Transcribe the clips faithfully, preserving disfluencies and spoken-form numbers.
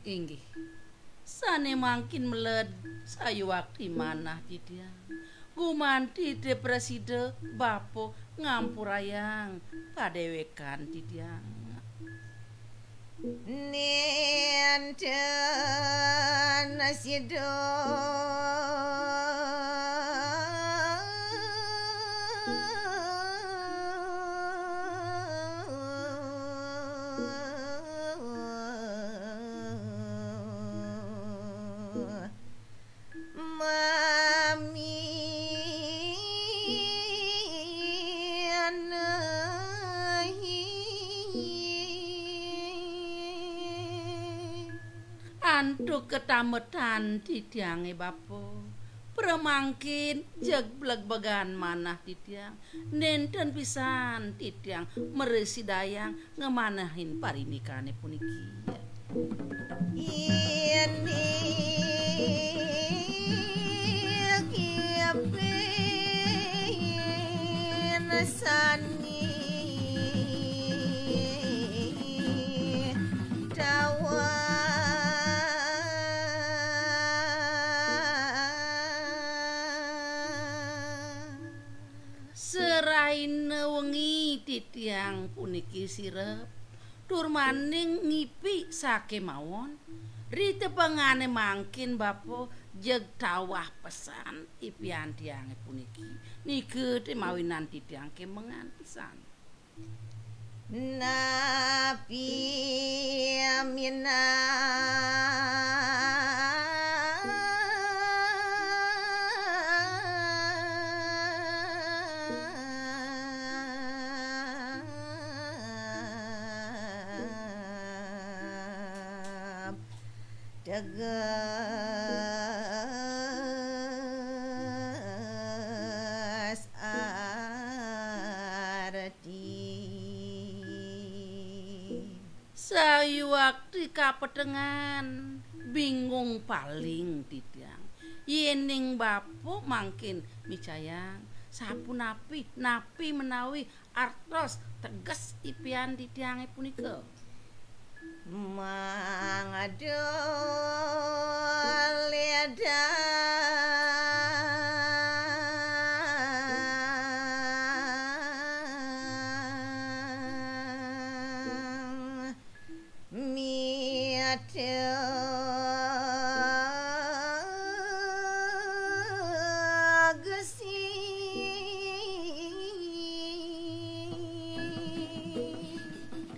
Inggih. Sane mangkin meled sayuwakti manah titiang. Gumanti te prasida bapa ngampurayang padewekan titiang. Nenten sida Antuk ketametan titiange bapa, pramangkin jeg blegbegan manah titiang, nenten pisan titiang mrasidayang ngamanehin parindikanne puniki. Indik ipin sani tawah. Seraina wengi titiang puniki sirep, tur maning ngipi sakemawon, ritepengane mangkin bapa jeg tawah pesan ipian tiange puniki, nika te mawinan titiang kemengan pisan. Napi minab teges arti. Sayuwakti kapetengan, bingung paling titiang. Yening bapa mangkin micayang, sapunapi, napi menawi artos teges ipian titiange punika? Mangda ledang mitagesi.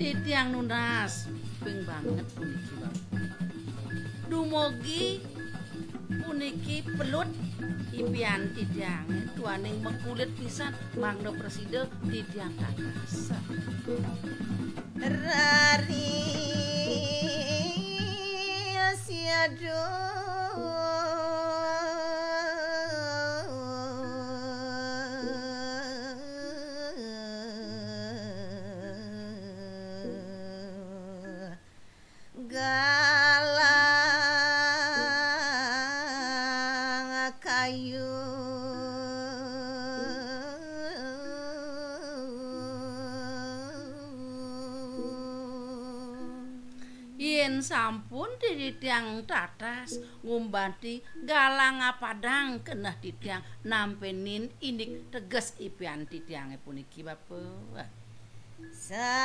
Titiang nunas ping banget puniki, Bapak. Dumugi puniki pelut ipian titiange, duaning makulit pisan, mangda prasida titiang tatas. Rari siadu. Galang kayu. Yen sampun titiang tatas ngumbanti galang apadang keneh titiang nampenin indik teges ipian titiange puniki, Bapak. Sapunapi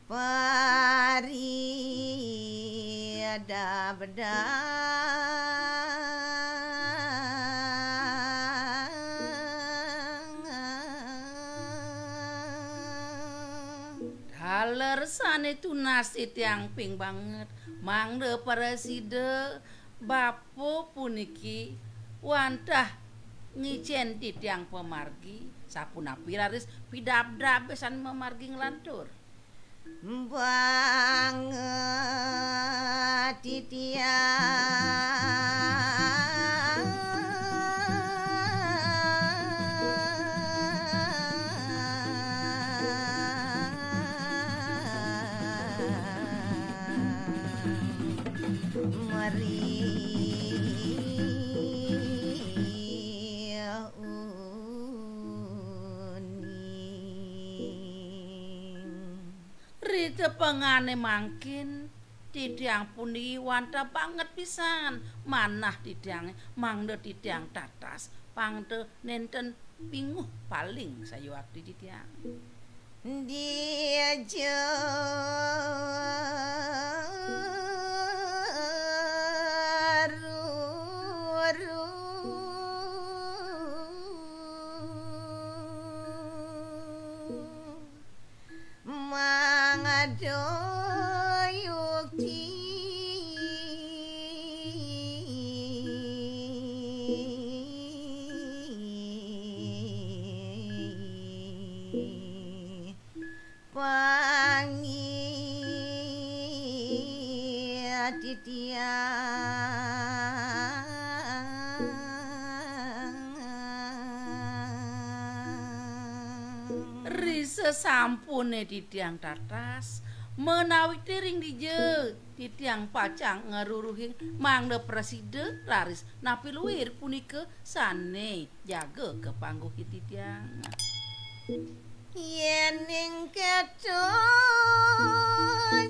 paridabdang. Taler sane tunas titiang ping banget, mangda prasida bapa puniki wantah ngicen titiang pamargi, sapunapi raris pidabdab sane mamargi nglantur. Banget titiang meri. Tepengane mangkin, titiang puniki wantah banget pisan manah titiange, mangda titiang tatas, pangda nenten pinguh paling sayuakti titiang. Dija ruru mangada yukti pangi titiang. Ri sesampune titiang tatas, menawi tiring dija titiang pacang ngruruhing mangda prasida raris napi luir punika sane jaga kapangguhi titiang. Yening keto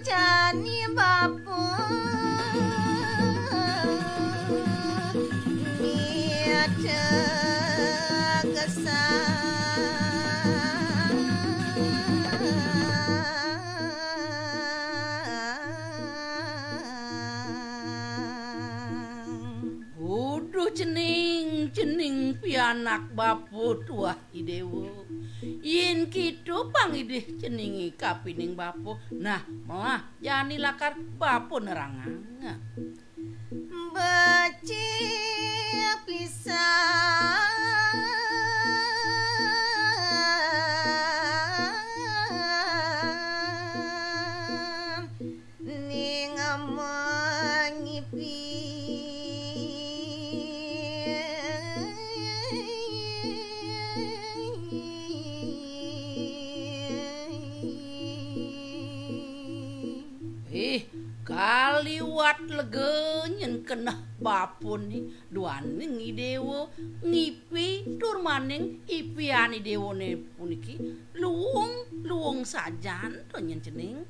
jani bapa mitegesan. Uduh cening, cening pianak bapa tuah I Dewa. Yen kita pang idih ceninge kapining bapa, nah, melah jani lakar bapa nerangang. Becik pisan ning mangipi. Ih, kaliwat lega nyen keneh bapun ni duaning I Dewa ngipi tur maning ipian I Dewane puniki luung, luung sajan to nyen cening.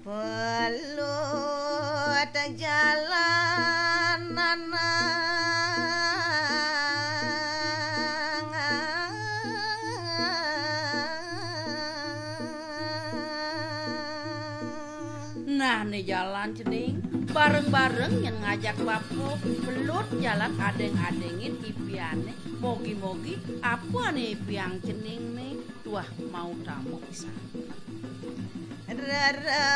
Pelut jalan nanang. Nah, ne jalan cening, bareng-bareng nyen ngajak bapa, pelut jalan adeng-adengin ipiane, mogi-mogi apa ane ipiang cening ne tuah mautama pisan. Rara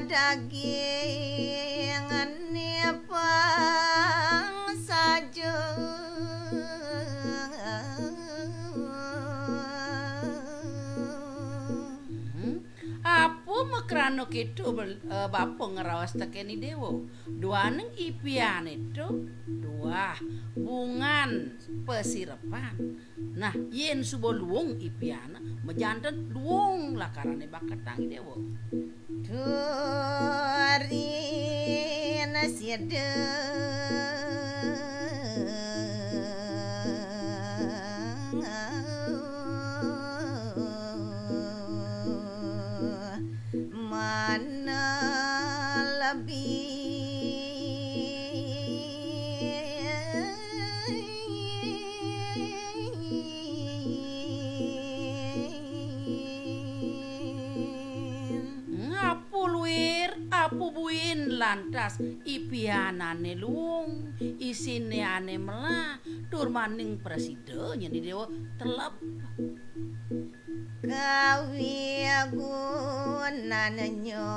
daging nipang saja. Hmm? Apa makrana keto bel-, eh, bapa ngraos teken I Dewa? Duaning ipiane to tuah bungan pasirepan. Nah, yen suba luung ipian, majanten luung lakarane baketang I Dewa. Turin sida mana lebih. Apa luir, apa buin lantas ipianane luung, isine ane melah, tur maning prasida nyen I Dewa telep. Kawigunannya.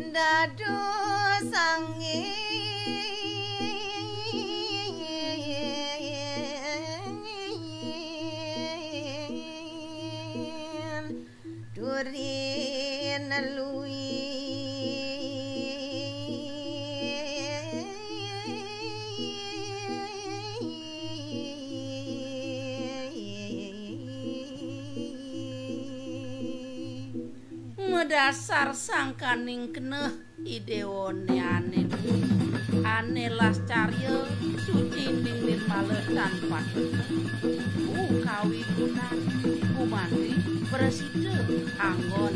Dados angin. Turin lui. Dasar sangkaning keneh idéwané ané, ané lascarya suci ning nirmala tan patut. Kawigunan gumanti prasida anggon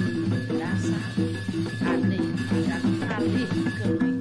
dasar ané adat kalih